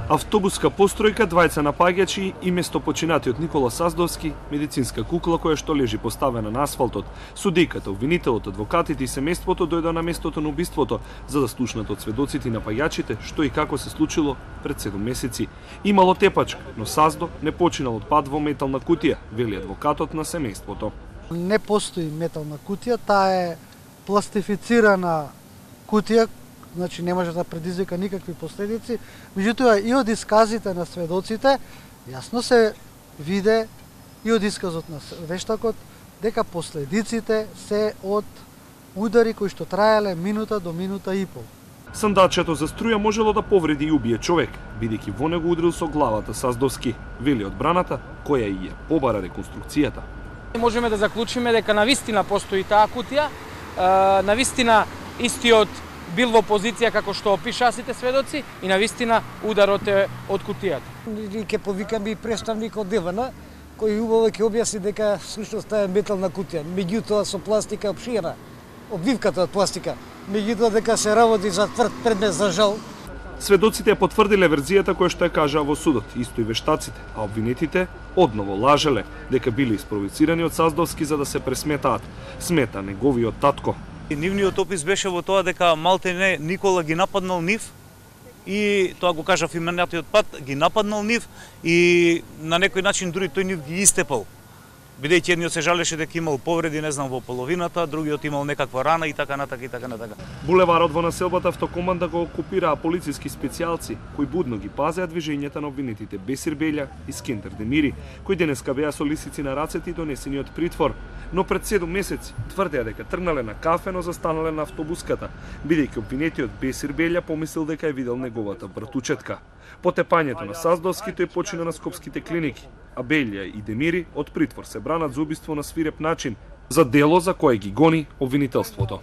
Автобуска постројка, двајца напаѓачи и местопочинатиот Никола Саздовски, медицинска кукла која што лежи поставена на асфалтот. Судијката, обвинителот, адвокатите и семејството дојдоа на местото на убиството за да слушнат од сведоците и напаѓачите што и како се случило пред 7 месеци. Имало тепачка, но Саздо не починал од пад во метална кутија, вели адвокатот на семејството. Не постои метална кутија, таа е пластифицирана кутија, значи не може да предизвика никакви последици. Меѓутоа и од исказите на сведоците јасно се виде и од исказот на вештакот дека последиците се од удари кои што траеле минута до минута и пол. Сандачето за струја можело да повреди и убие човек, бидејќи во него удрил со главата Саздовски, вели одбраната, која и ја побара реконструкцијата. Можеме да заклучиме дека навистина постои таа кутија, навистина истиот бил во позиција како што опишаа сите сведоци и навистина ударот е од кутијата. Ќе повикаме и представник од ДВН кој убаво ќе објасни дека всушност таа е метална кутија, меѓутоа со пластика обширена, обвивката од пластика, меѓутоа дека се работи за тврд предмет за жал. Сведоците ја потврдиле верзијата која што ја кажаа во судот, исто и вештаците, а обвинетите одново лажеле дека биле испровоцирани од Саздовски за да се пресметаат, смета неговиот татко. Нивниот опис беше во тоа дека малтене Никола ги нападнал нив и тоа го кажа в именатиот пат, ги нападнал нив и на некој начин дури тој нив ги истепал. Бидејќи едниот се жалеше дека имал повреди, не знам, во половината, другиот имал некаква рана и така натака и така натака. Булеварот во населбата Автокоманда го окупираа полициски специјалци кои будно ги пазеа движењата на обвинетите Бесир Белја и Скендер Демири, кои денеска беа со лисици на рацете и донесени од притвор, но пред 7 месеци тврдеа дека тргнале на кафе, но застанале на автобуската, бидејќи обвинетиот Бесир Белја помислил дека е видел неговата братучетка. По тепањето на Саздовски тој почина на скопските клиники, а Белја и Демири од притвор се бранат за убиство на свиреп начин, за дело за кое ги гони обвинителството.